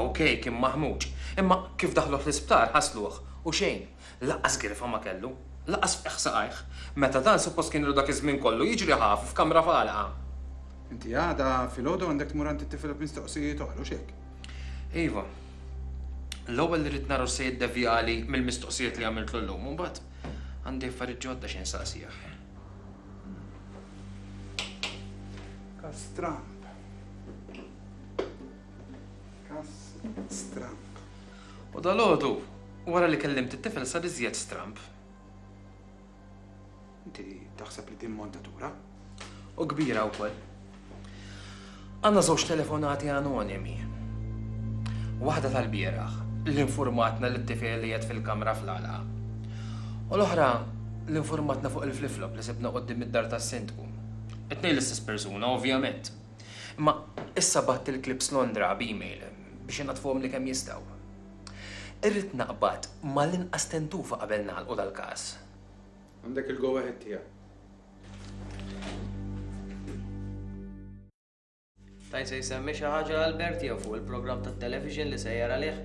S5: Ok, kien maħmuġ, imma kif daħluh l-isptar ħasluh u xejn, lanqas girfa ma kellu, lanqas fqigħ saqajh, meta dan suppost kien ilu dak iż-żmien kollu jiġri ħafi f'kamra f'għalqa.
S16: Inti għada filgħodu għandek tmur għand it-tifel b'mistoqsijiet oħra, hux hekk?
S5: Iva. L-ewwel irrid nara x'se jiddevjali mill-mistoqsijiet li għamiltlu llum u mbagħad għandi affarijiet ġodda xi nsaqsih.
S16: Każ stramb. Każ stramb.
S5: U dalgħodu, wara li kellimt it-tifel sar iżjed stramb.
S16: Inti taħseb li din montatura?
S5: U kbira wkoll. Għandna żewġ telefonati anonimi. Waħda tal-bieraħ li infurmatna li t-tifel li qiegħed fil-kamra fl-għalqa. U l-oħra li infurmatna fuq il-flip-flop li sibna quddiem id-dar tas-sindku. It-tnejn l-istess persuna, ovvjament. Imma issa bgħatt il-clips Londra b'email biex inaddfuhomli kemm jistgħu. Irrid naqbad mal-inqas tentufa qabel nagħlqu dal-każ.
S16: Għandek il-go ahead tiegħek.
S22: Tajt se jsemmi xi ħaġa Albert jew fuq il-programm tat-television li sejjer għalih?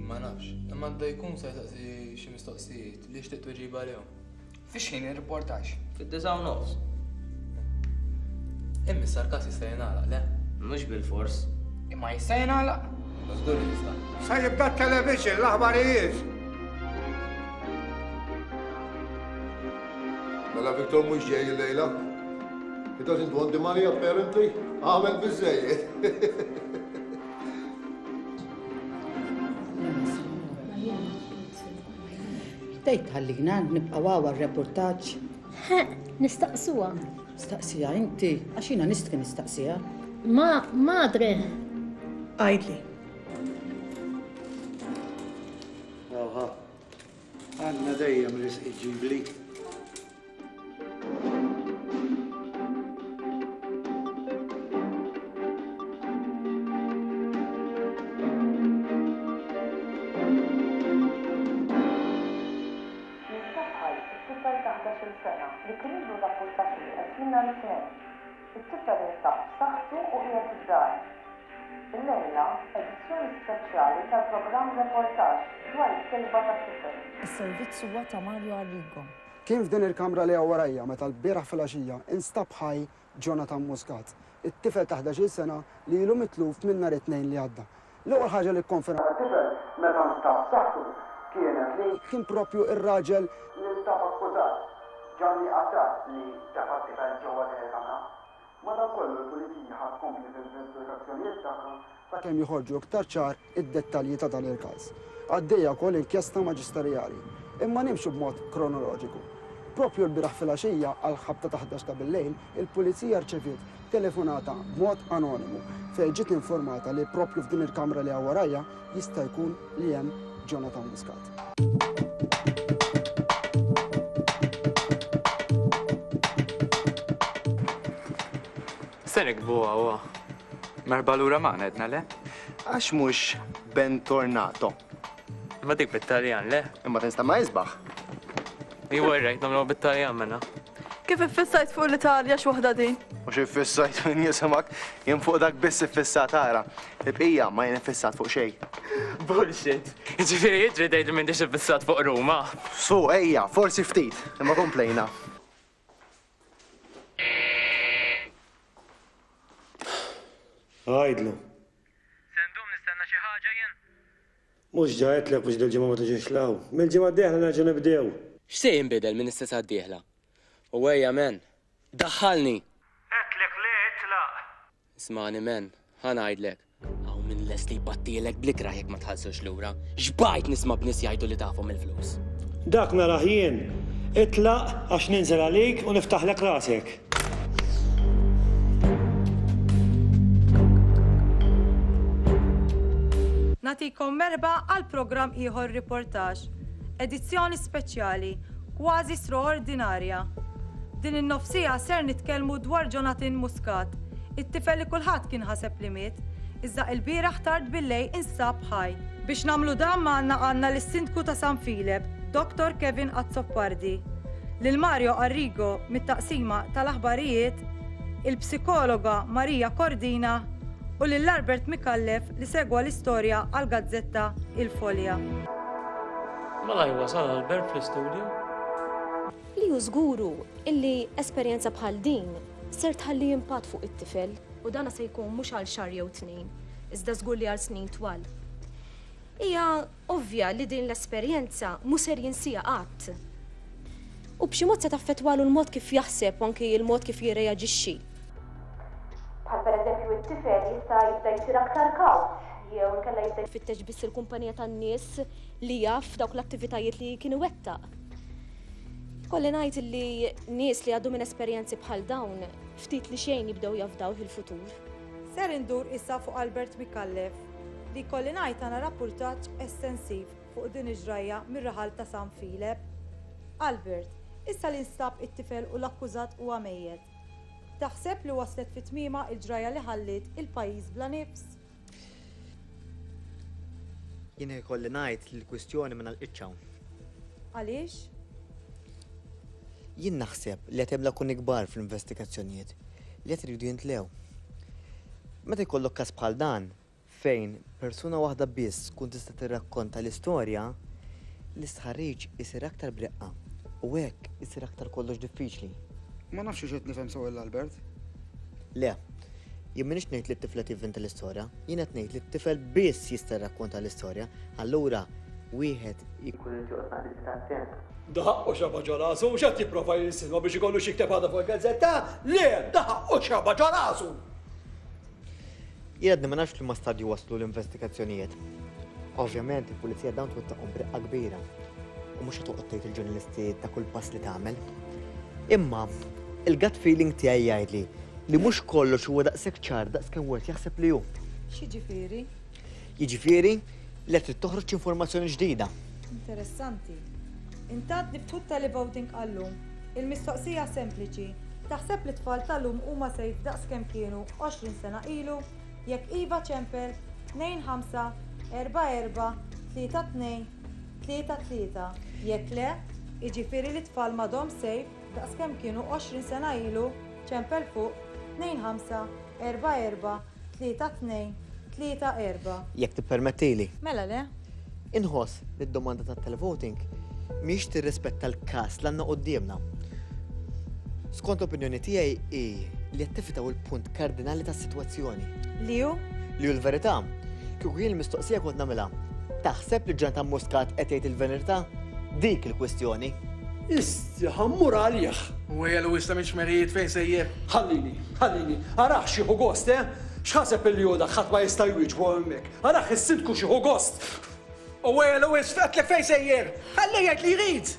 S8: Ma nafx, imma għandu jkun se jsaqsi xi mistoqsijiet li jixtieq tweġiba għalihom. Fix ħin ir-riportaġġ?
S22: Fid-9:30.
S8: Imma issa l-każ jista' jingħalaq, le?
S22: Mhux bilfors.
S8: Imma jista' jingħalaq? Żgur li jista'.
S4: Se jibda t-television, l-aħbarijiet. Mela Victor mhux ġej illejla. He doesn't want the money apparently. Għamel biżżejjed.
S18: Tgħid tħallina nibqgħu hawn għar-reportaġġ?
S24: Nistaqsuha.
S18: Staqsiha inti, għax jiena nistħi nistaqsiha.
S24: Ma, madre.
S25: Għidli.
S23: ħa. Għandna dejjem risq iġġibli.
S12: Jinsab ħaj it-tifel ta' 11-il sena li kien ilu rappurtat nieqes minn nhar it-Tnejn. It-tifel instab b'saħħtu u qiegħed id-dar. Illejla, edizzjoni speċjali tal-programm Reportaġġ dwar is-sejba tat-tifel.
S19: Is-servizz huwa ta' Mario Arrigo.
S20: Kien f'din il-kamra li hawn warajja meta lbieraħ filgħaxija instab ħaj Jonathan Muscat, it-tifel ta' 11-il sena li ilu mitluf minn nhar it-Tnejn li għadda. L-ewwel ħaġa li kkonferma t-tifel meta nstab b'saħħtu kienet li kien proprju r-raġel li nstab akkużat, Gianni Attard li tefa' t-tifel ġewwa din il-kamra. Madankollu l-Pulizija ħa tkompli fl-investigazzjonijiet tagħha sakemm joħorġu iktar ċar id-dettalji ta' dan il-każ. Għaddejja wkoll inkjesta maġisterjali. Imma nimxu b'mod kronoloġiku. Proprju lbieraħ filgħaxija għall-ħabta ta' 11 ta' billejl, il-Pulizija rċeviet telefonata b'mod anonimu fejn ġiet informata li proprju f'din il-kamra li hawn warajja jista' jkun li hemm Jonathan Muscat.
S21: Se nikbu għawa. Merba lura ma edna le?
S15: Għax mhux bentornato.
S21: Imma dik bit-Taljan, le?
S15: Imma tinsta ma jisbaħ.
S21: Iwa rajt nagħmluha bit-Taljan mela.
S25: Kif iffissajt fuq l-Italja x'waħda din?
S15: Mhux iffissajt min jisimak, jien fuq dak biss iffissat ara. Il-bqija ma jien iffissat fuq xejn.
S21: Bullshit. Ġifieri jiġri tgħid li m'intix iffissat fuq Ruma.
S15: Su, ejja, forsi ftit, imma komplejna.
S7: Għidlu.
S21: Se ndum nistenna xi ħaġa jien?
S7: Mhux ġa għedtlek biex dil-ġimgħa ma tiġix 'l hawn. Mill-ġimgħa d-dieħla nerġgħu nibdew.
S26: X'se jinbidel minn issa sad-dieħla? U ejja man! Daħħalni!
S7: Għedtlek le itlaq!
S26: Ismagħni man, ħa ngħidlek. Hawn min lest li jbattielek bl-ikrah jekk ma tħallsux lura. Xbajt nisma' b'nies jgħidu li tafhom il-flus.
S7: Dak narah jien. Itlaq għax ninżel għalik u niftaħlek rasek.
S25: Nagħtikom merħba għal programm ieħor Riportaġġ, edizzjoni speċjali, kważi straordinarja. Din in-nofsiegħa ser nitkellmu dwar Jonathan Muscat, it-tifel li kulħadd kien ħaseb li miet, iżda ilbieraħ tard billejl instab ħaj. Biex nagħmlu dan magħna għandna lis-Sindku ta' San Filep, Dottor Kevin Azzopardi, lil Mario Arrigo mit-Taqsima tal-Aħbarijiet, il-psikologa Maria Cordina u lil Albert Micallef li segwa l-istorja għall-gazzetta Il Foglia.
S27: Malajr wasal Albert fl-istudio.
S3: Li hu żgur hu illi esperjenza bħal din ser tħalli impatt fuq it-tifel u dana se jkun mhux għal xahar jew tnejn, iżda żgur li għal snin twal. Hija ovvja li din l-esperjenza mhu ser jinsiha qatt. U b'xi mod se taffettwalu l-mod kif jaħseb u anki l-mod kif jirreaġixxi. Bħal pereżempju t-tifel jista' jibda jsir aktar kawt jew inkella jibda jfittex biss il-kumpanija tan-nies li jaf f'dawk l-attivitajiet li kien iwettaq. Ikolli ngħid li nies li jgħaddu minn esperjenzi bħal dawn ftit li xejn jibdew jafdaw il-futur.
S25: Ser indur issa fuq Albert Micallef, li jkolli ngħid tana rappurtaġġ estensiv fuq din il-ġrajja mir-raħal ta' San Filep. Albert, issa li nstab it-tifel u l-akkużat huwa mejjet, taħseb li waslet fi tmiemha il-ġrajja li ħalliet il-pajjiż bla nifs?
S9: Jien ikolli ngħid li l-kwistjoni ma nagħlqitx hawn.
S25: Għaliex?
S9: Jien naħseb li qed hemm lakuni kbar fl-investigazzjonijiet li qed iridu jintlew. Meta jkollok każ bħal dan, fejn persuna waħda biss tkun tista' tirrakkonta l-istorja, l-istħarriġ isir aktar b'reqqa u hekk isir aktar kollox diffiċli.
S20: Ma nafx hux qed nifhem sew 'il Albert.
S9: Le. Jien m'iniex ngħid li t-tifla tivvinta l-istorja, jien qed ngħid li t-tifel biss jista' jirrakkonta l-istorja, allura wieħed ikun irid joqgħod naqra iżjed attent.
S23: Da ħaqqu xaba ġo rasu, mhux qed jipprova jinsinwa biex ikollu x'jikteb għada fuq il-gazzetta? Le, da ħaqqu xaba ġo rasu!
S9: Jien għadni ma nafx f'liema stadju waslu l-investigazzjonijiet. Ovvjament il-pulizija dawn twettaqhom b'reqqa kbira u mhux se toqgħod tgħid il-ġurnalisti ta' kull pass li tagħmel. Imma il-gut feeling tiegħi jgħidli li mhux kollox huwa daqshekk ċar daqs kemm wieħed jaħseb li hu.
S25: X'jiġifieri?
S9: Jiġifieri li qed trid toħroġ informazzjoni ġdida.
S25: Interessanti. Intant niftħu t-televoting għal-lum. Il-mistoqsija sempliċi, taħseb li t-tfal tal-lum huma safe daqs kemm kienu 20 sena ilu? Jekk iva ċempel 2 5 4 4 3 2 3 3. Jekk le, jiġifieri li t-tfal m'għadhomx safe daqs kemm kienu 20 sena ilu, ċempel fuq 2 5 4 4 3 2 3 4.
S9: Jekk tippermettili.
S25: Mela le.
S9: Inħoss li d-domanda tat-televoting mhijiex tirrispetta l-każ li għandna quddiemna. Skont l-opinjoni tiegħi hi li qed tifitaw il-punt kardinali tas-sitwazzjoni.
S25: Li hu?
S9: Li hu l-verità. Kieku jien il-mistoqsija kont nagħmilha. Taħseb li Jonathan Muscat qed jgħid il-verità? Dik il-kwistjoni.
S23: Isti, ħa mmur għalih!
S8: Ejja Louis tagħmilx merijiet fejn sejjer.
S23: Ħallini, ħallini, arah x'jieħu gost, eh? X'ħaseb illi hu dak ħadd ma jista' jwieġbu hemmhekk. Arah is-sindku x'jieħu gost!
S8: U ejja Louis għedtlek fejn sejjer! Ħallih jgħid li jrid!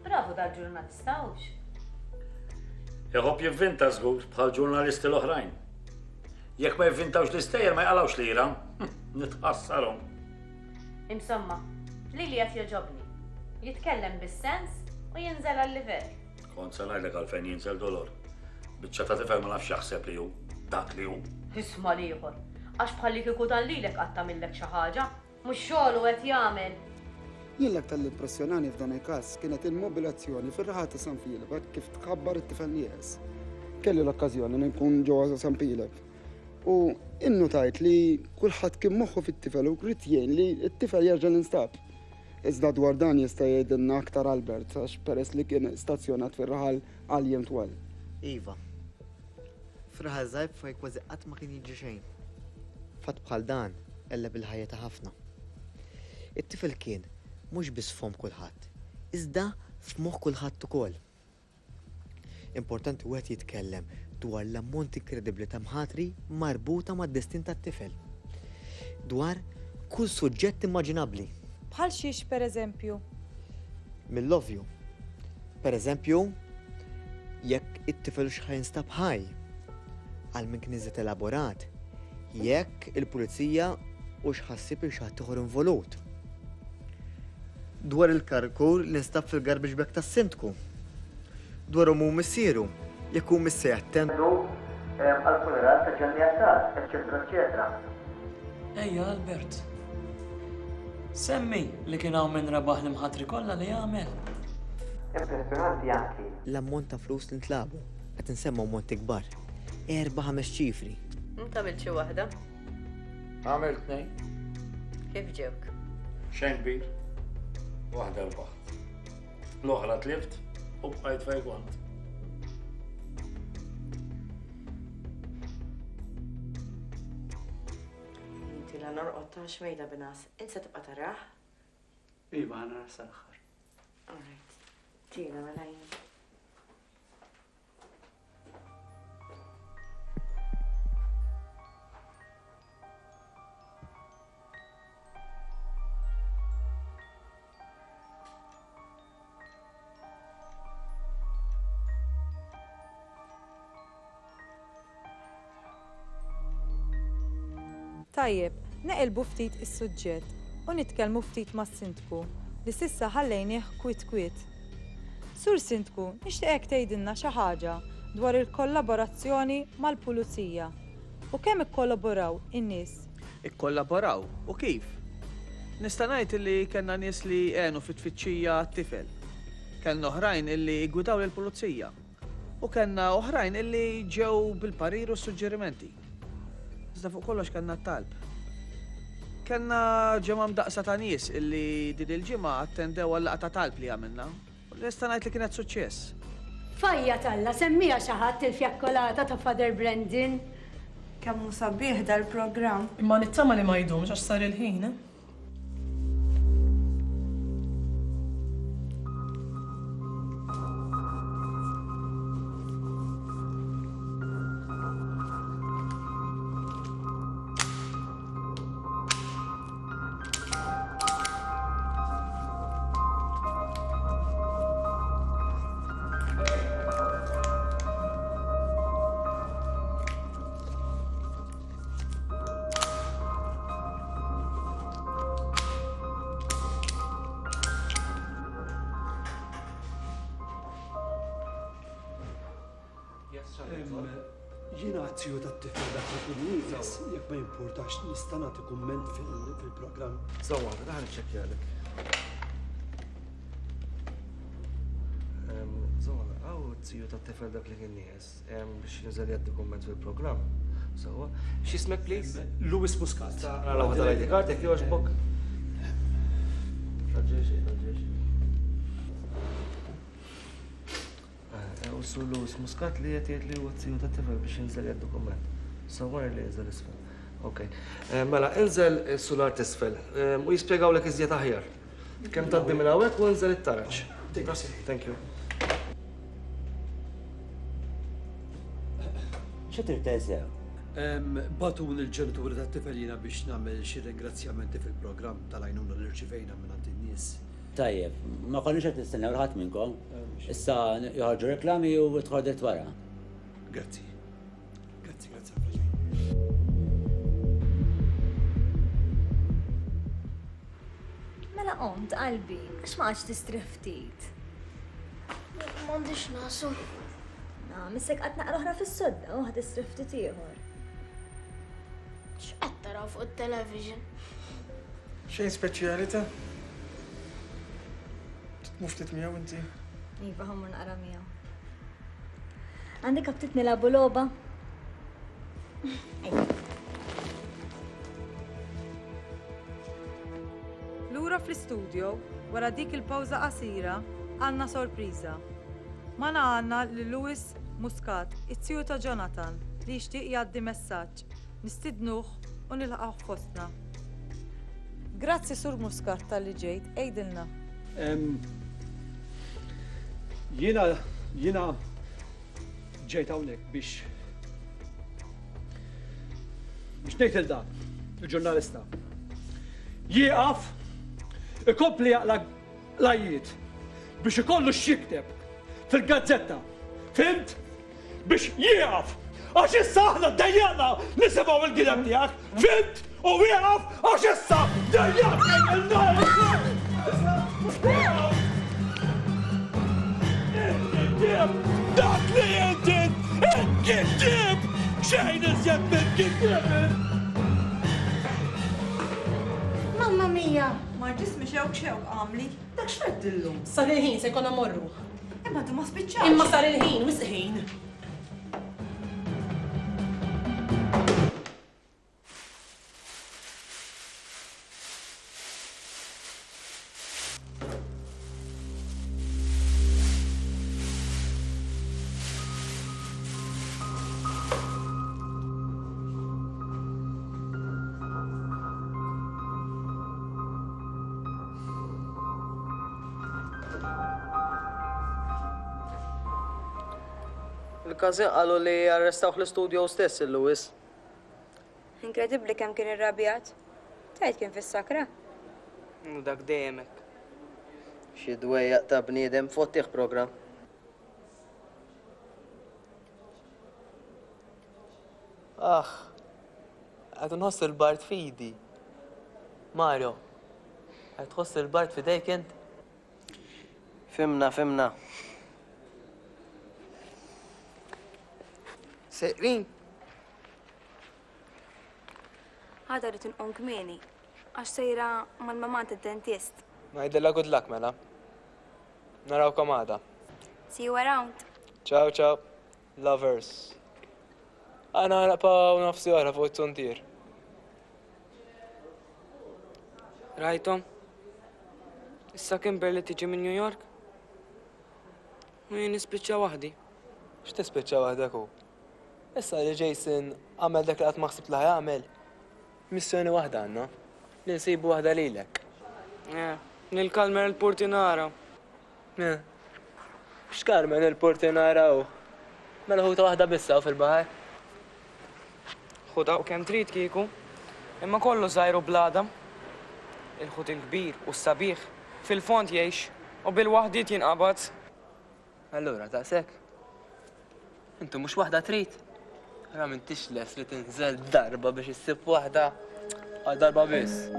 S2: Bravu dal-ġurnalista hux?
S6: Iħobb jivvinta żgur bħal ġurnalisti l-oħrajn. Jekk ma jivvintawx l-istejjer ma jqalgħux lira. Nitħassarhom.
S2: Insomma, lili qed jogħġobni. Jitkellem bis-sens u jinżel għal-livell.
S6: Kont se ngħidlek għalfejn jinżel Dolor. Biċċa ta' tifel ma nafx jaħseb li hu dak li hu.
S2: Isma' l-ieħor. Għax bħallikieku dan lilek qatt għamillek xi ħaġa. Mhux xogħlu qed jagħmel.
S20: Jien l-aktar li impressjonani f'dan il-każ kienet il-mobilazzjoni fir-raħal ta' San Filep hekk kif tħabbar it-tifel nieqes. Kelli l-okkażjoni li nkun ġewwa San Filep u innutajt li kulħadd kien moħħu fit-tifel u ried jgħin li t-tifel jerġa' jinstab. Iżda dwar dan jista' jgħidilna aktar Albert għax peress li kien stazzjonat fir-raħal għal jiem twal.
S9: Iva. F'raħal żgħir fejn kważi qatt ma kien jiġri xejn. Fatt bħal dan qelleb il-ħajja ta' ħafna. It-tifel kien mhux biss f'fomm kulħadd, iżda f'moħħ kulħadd ukoll. Importanti wieħed jitkellem dwar l-ammont inkredibbli ta' mħatri marbuta mad-destin tat-tifel. Dwar kull suġġett immaġinabbli.
S25: Bħal xiex pereżempju?
S9: Mill-ovvju. Pereżempju, jekk it-tifel hux ħa jinstab ħaj. Għal min kien iżjed elaborat, jekk il-pulizija hux ħa ssib lil xi ħadd ieħor involut. Dwar il-karkur li nstab fil-garbage bag tas-sindku. Dwar ommu u missieru, jekk humiex se jattendu għall-funeral ta' Ġanni Attard, eċċetera eċċetera.
S27: Ejja Albert. Semmi li kien hawn min rebaħ l-imħatri kollha li għamel.
S9: Impressjonanti anki l-ammont ta' flus li ntlagħbu. Qed insemmu ammonti kbar. Erba' ħames ċifri.
S2: Int għamilt xi waħda?
S6: Għamilt tnejn.
S2: Kif ġewk?
S6: Xejn kbir. Waħda rbaħt. L-oħra tlift u bqajt fejn kont.
S10: Inti la norqod ta' xmejda binas, int se tibqa' tarah?
S23: Iva, ħa narah sal-aħħar.
S10: All right. Tina mela jien.
S25: Tajjeb, neqilbu ftit is-suġġett u nitkellmu ftit mas-Sindku li s'issa ħallejnih kwiet kwiet. Sur Sindku, nixtieqek tgħidilna xi ħaġa dwar il-kollaborazzjoni mal-Pulizija u kemm ikkollaboraw in-nies.
S15: Ikkollaboraw, u kif? Nista' ngħid illi kellna nies li għenu fit-tfittxija għat-tifel. Kellna oħrajn illi ggwidaw lill-pulizija. U kellna oħrajn illi ġew bil-parir u s-suġġerimenti. Iżda fuq kollox kellna t-talb. Kellna ġemgħa mdaqqsa ta' nies illi din il-ġimgħa attendew għal-laqgħa ta' talb li għamilna. U nista' ngħid li kienet suċċess.
S24: F'għajja t'Alla, semmiha xi ħadd il-fjakkolata ta' Father Brendan.
S11: Kemm hu sabiħ dal-programm.
S27: Imma nittama li ma jdumx għax sar il-ħin, eh?
S23: Jiena għat-tiju tat-tifel dak li kien nieqes, jekk ma jimpurtax nista' nagħti kumment fil-programm.
S15: Żomm waħda, ħa niċċekkjalek. Żomm, hawn it-tiju tat-tifel dak li kien nieqes biex jinżel jgħaddi kumment fil-programm. Sewwa. X'ismek please?
S23: Louis Muscat.
S15: Nara waħda l-ID card jekk jogħġbok. Taġġel taġġel. U Sur Louis Muscat li qed jgħid li huwa t-tiju tat-tifel biex jinżel jgħaddi kumment. Sewwa li jinżel isfel. Ok. Mela, inżel sular t'isfel u jispjegawlek iżjed aħjar. Kemm tgħaddi minn hawnhekk u inżel it-taraġ. Thank you.
S1: Xi trid teżew?
S23: Bagħtuni l-ġenituri tat-tifel jiena biex nagħmel xi ringrazzjamenti fil-programm tal-għajnuna li rċivejna mingħand in-nies.
S1: Tajjeb, ma konniex qed nistennew 'l ħadd minnkom. Issa joħorġu reklami u tidħol dritt wara.
S23: Grazzi. Grazzi, grazzi ħafna ġej.
S5: Mela qomt qalbi, għax ma qgħadx tistrieħ ftit?
S13: M'għandix nasu.
S5: Na, missek qatt naqra oħra fis-sodda u ħa tistrieħ ftit ieħor.
S13: X'qed taraw fuq it-television?
S8: Xejn speċjali ta' Tmur ftit miegħu inti?
S5: Iva, ħammur naqra miegħu. Għandek aptit nilagħbu logħba?
S25: Lura fl-istudio, wara dik il-pawża qasira, għandna sorpriża. Magħna għandna lil Louis Muscat, it-tiju ta' Jonathan, li jixtieq jgħaddi messaġġ. Nistidnuh u nilqgħuh fostna. Grazzi Sur Muscat talli ġejt, għidilna.
S23: Jiena jiena ġejt hawnhekk biex biex ngħid il dan il-ġurnalista. Jieqaf ikompli jaqla l-għajjiet biex ikollu x'jikteb fil-gazzetta. Fhimt? Biex jieqaf! Għax issa aħna ddejjaqna nisimgħu l-gideb tiegħek, fhimt? U wieqaf għax issa dejjaqna Dak li inti int xejn iżjed minn gideb!
S11: Mamma mia! Ma ġismi xewk xewk għamli. Dak x'feddillu?
S14: Sar il-ħin se jkollna mmorru.
S11: Imma għadu ma spiċċax.
S14: Imma sar il-ħin, wisq ħin.
S16: Il-każin qalu li arrestawh l-istudio stess il-Lewis.
S11: Inkredibbli kemm kien irrabjat. Tgħid kien fis-sakra?
S16: U dak dejjem hekk. Xi dwejjaq ta' bniedem fottih programm.
S21: Aħ, qed inħoss il-bard f'idi. Mario, qed tħoss il-bard f'idejk int?
S16: Fhimna, fhimna.
S8: Sejrin?
S11: Għada rrid inqum kmieni għax sejra mal-mamà għand id-dentist.
S21: Ngħidilha good luck mela. Narawkom għada.
S11: See you around.
S21: Ciao ciao. Lovers. Aħna naqpaw nofsi oħra fuq it-tuntier.
S16: Rajthom? Issa Kimberly tiġi minn New York? U jien nispiċċa waħdi.
S21: X'tispiċċa waħdek hu? Issa li Jason għamel dak li qatt ma ħsibt li ħajamel, missjoni waħda għandna, li nsibu waħda lilek.
S16: Eh, lil Carmen il-Portinara.
S21: Eh. X'Carmen il-Portinara hu? Mela ħuta waħda biss hawn fil-baħar.
S16: Ħuta u kemm trid kieku. Imma kollu żgħir u bl-għadam. Il-ħut il-kbir u s-sabiħ fil-fond jgħix u bil-waħdiet jinqabad.
S21: Allura daqshekk? Inti mhux waħda trid? Ara m'intix lest li tinżel darba biex issib waħda għal darba biss.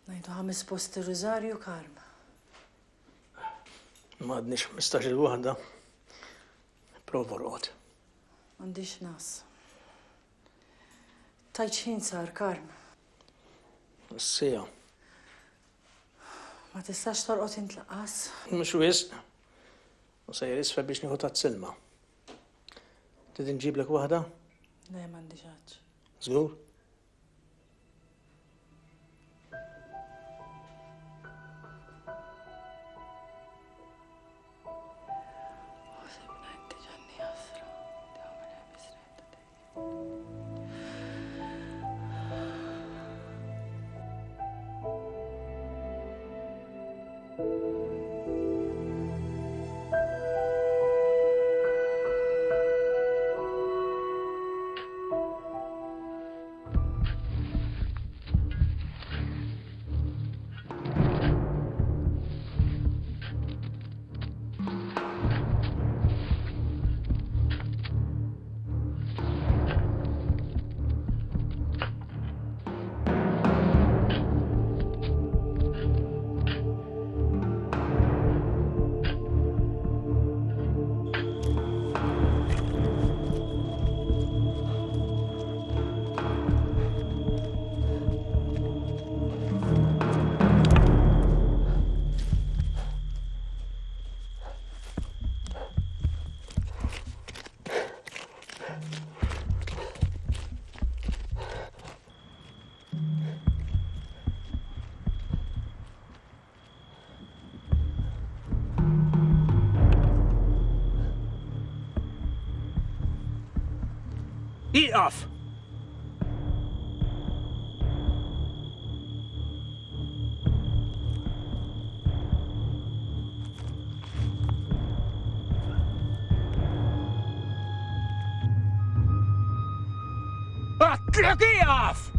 S17: Ngħidu ħames posti Rużarju Karm.
S7: M'għadniex 15-il waħda. Prova orqod.
S4: M'għandix nas. Tajt x'ħin sar, Karm?
S7: Sija.
S4: Ma tistax torqod int laqqas?
S7: Mhux wisq. U sejjer isfel biex nieħu tazz ilma. Trid inġiblek waħda?
S4: Le, m'għandix għatx.
S7: Żgur? Ieqaf! Għedtlek ieqaf!